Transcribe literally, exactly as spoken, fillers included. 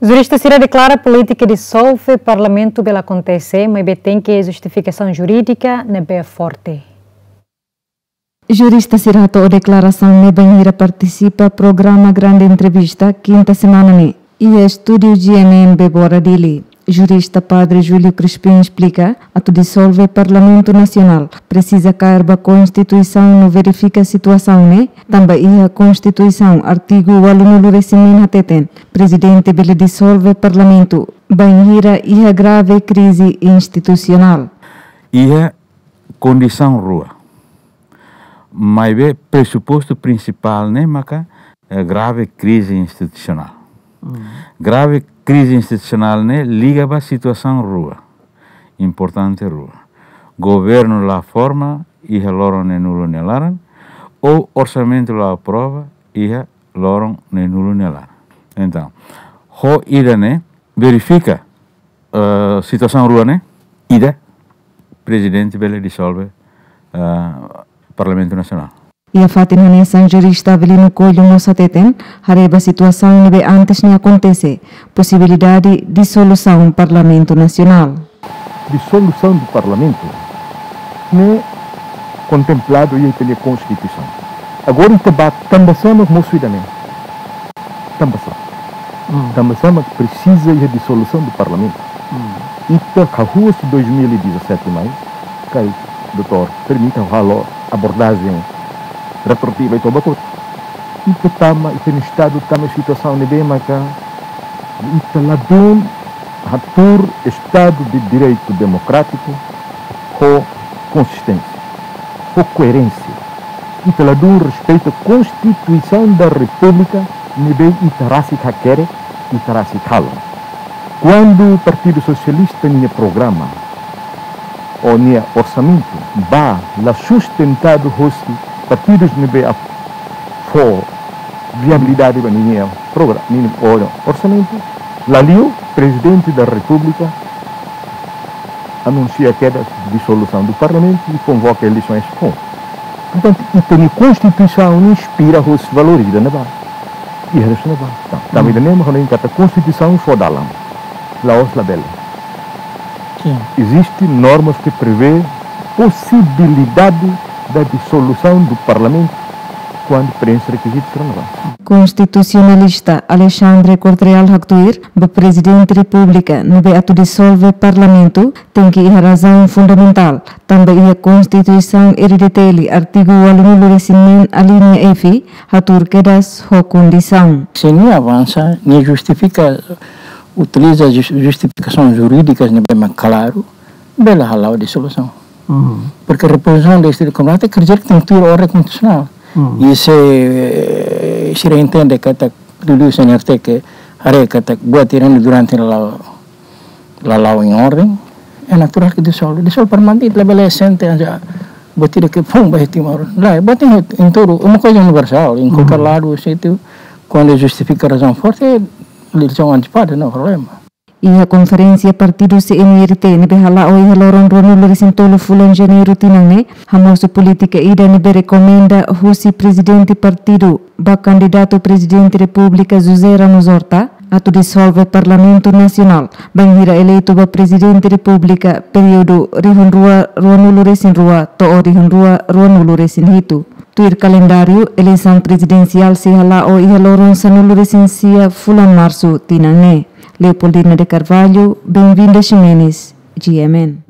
Jurista sira deklara polítika disolve parlamentu bele akontese, maibé tenke justifikasaun jurídika ne'ebé forte. Jurista sira hato'o deklarasaun ne'e bainhira partisipa programa Grande Entrevista, kinta semana ne'e, iha estúdiu G M N Bebora Dili. Jurista Padre Júlio Crispim esplika, atu disolve Parlamentu Nasionál, presiza kaer ba Konstituisaun no verifika situasaun ne'e, tanba iha Konstituisaun, artigu ualunulu-resin-neen hateten, Prezidente bele disolve Parlamentu, bainhira iha grave krize institusionál. Iha kondisaun rua. Maibé presupostu prinsipál ne'e maka, eh, grave krize institusionál. Grave krize institusionál ne'e liga ba situasaun rua. Importante rua. Governu la forma iha loron neenulu nia laran, ou orsamentu la aprova iha loron neenulu nia laran. Entaun, ho ida-ne'e, verifika, eh, situasaun rua ne'e, ida, Prezidente bele disolve, eh, Parlamentu Nasionál. Iha fatin hanesan, jurista Avelino Coelho mós hateten, haree ba situasaun ne'ebé antes ne'e akontese, posibilidade disolusaun Parlamentu Nasionál. Disolusaun do Parlamentu ne'e kontempladu iha ita-nia Konstituisaun. Agora ita ba tanba sá mak mosu ida-ne'e. Tanba sá. Tanba sá mak presiza iha disolusaun do Parlamentu. Ita hahú husi dois mil e dezassete mai, karik doutór permite halo abordajen retroativa ita ba kotuk. Ita tama, ita-nia Estadu tama situasaun ne'ebé maka ita ladún hatuur Estadu de Direitu Demokrátiku ho konsisténsia, ho koerénsia. Ita ladún respeita Konstituisaun da Repúblika ne'ebé ita rasik hakerek, ita rasik halo. Kuandu Partidu Sosialista nia programa ou nia orsamentu ba la sustentadu hosi partidus ne'ebé fó viabilidade ba ninia programa, ninia orsamentu, la liu, Prezidente da Repúblika anunsia kedas disolusaun do Parlamentu i konvoka eleisoens foun. Portantu, ita-nia Konstituisaun ne'e inspira hosi valores ida-ne'ebá. Iha hosi ne'ebá. Tanba ida-ne'e mak ha'u hanoin katak Konstituisaun fó dalan. La'ós labele. Eziste normas que prevê possibilidade da dissolução do Parlamento quando preenche requisitos relevantes. Konstitusionalista Alexandre Corte-Real haktuir ba Prezidente Repúblika ne'ebé atu disolve Parlamentu tenke iha razaun fundamentál, tanba iha Konstituisaun R D T L, artigu ualunulu-resin-neen, alínea F, hatuur kedas ho kondisaun. Se nia avansa, nia justifika, utiliza jus-, justifikasaun jurídikas ne'ebé mak klaru, bele hala'o disolusaun. Porque reposisaun de Estadu de Komandante quer dizer que tenke tuir orden konstitusionál. I se, eh, sira entende katak, liuliu C N R T ke haree katak buat ida-ne'e durante la, la la'o em ordem, é natural que dissolve. Dissolve Parlamentu, labele sente aja buat ida ke foun ba Timor. Lae, buat ida em todo, uma coisa universal, em qualquer lado, sítio, quando justifika razaun forte, eleisaun antesipada, no problema. Iha konferénsia partidu C N R T ne'ebé hala'o iha loron ruanulu-resin-tolu fulan Janeiru tinan ne'e, hamosu polítika ida ne'ebé rekomenda husi Prezidente Partidu ba kandidatu Prezidente Repúblika José Ramos Horta, atu disolve Parlamentu Nasionál, bainhira eleitu ba Prezidente Repúblika períodu rihun rua ruanulu-resin-rua to'o rihun rua ruanulu-resin-hitu. Tuir kalendáriu, eleisaun prezidensiál sei hala'o iha loron sanulu-resin-sia fulan Marsu tinan ne'e. Leopoldina de Carvalho, Benvinda Ximenes, G M N.